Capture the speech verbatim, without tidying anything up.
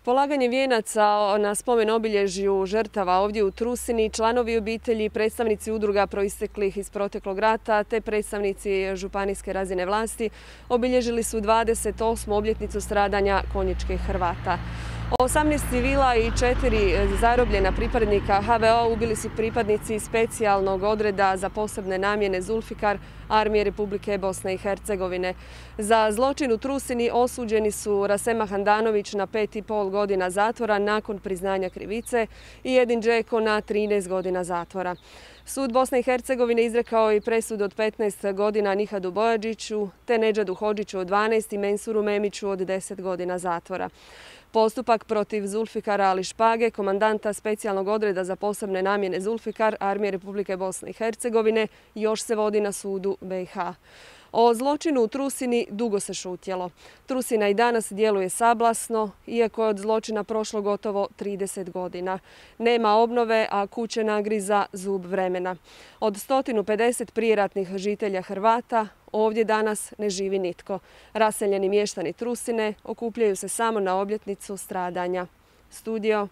Polaganje vijenaca na spomen obilježju žrtava ovdje u Trusini, članovi obitelji, predstavnici udruga proisteklih iz proteklog rata te predstavnici županijske razine vlasti obilježili su dvadeset osmu obljetnicu stradanja konjičkih Hrvata. osamnaest civila i četiri zarobljena pripadnika H V O ubili su pripadnici specijalnog odreda za posebne namjene Zulfikar Armije Republike Bosne i Hercegovine. Za zločin u Trusini osuđeni su Rasema Handanović na pet i pol godina zatvora nakon priznanja krivice i Edin Džeko na trinaest godina zatvora. Sud Bosne i Hercegovine izrekao i presud od petnaest godina Nihadu Bojađiću te Nedžadu Hodžiću od dvanaest i Mensuru Memiću od deset godina zatvora. Postupak protiv Zulfikara Ali Špage, komandanta specijalnog odreda za posebne namjene Zulfikar Armije Republike Bosne i Hercegovine, još se vodi na sudu B i H. O zločinu u Trusini dugo se šutjelo. Trusina i danas djeluje sablasno, iako je od zločina prošlo gotovo trideset godina. Nema obnove, a kuće nagriza zub vremena. Od sto pedeset prijeratnih žitelja Hrvata ovdje danas ne živi nitko. Raseljeni mještani Trusine okupljaju se samo na obljetnicu stradanja. Studio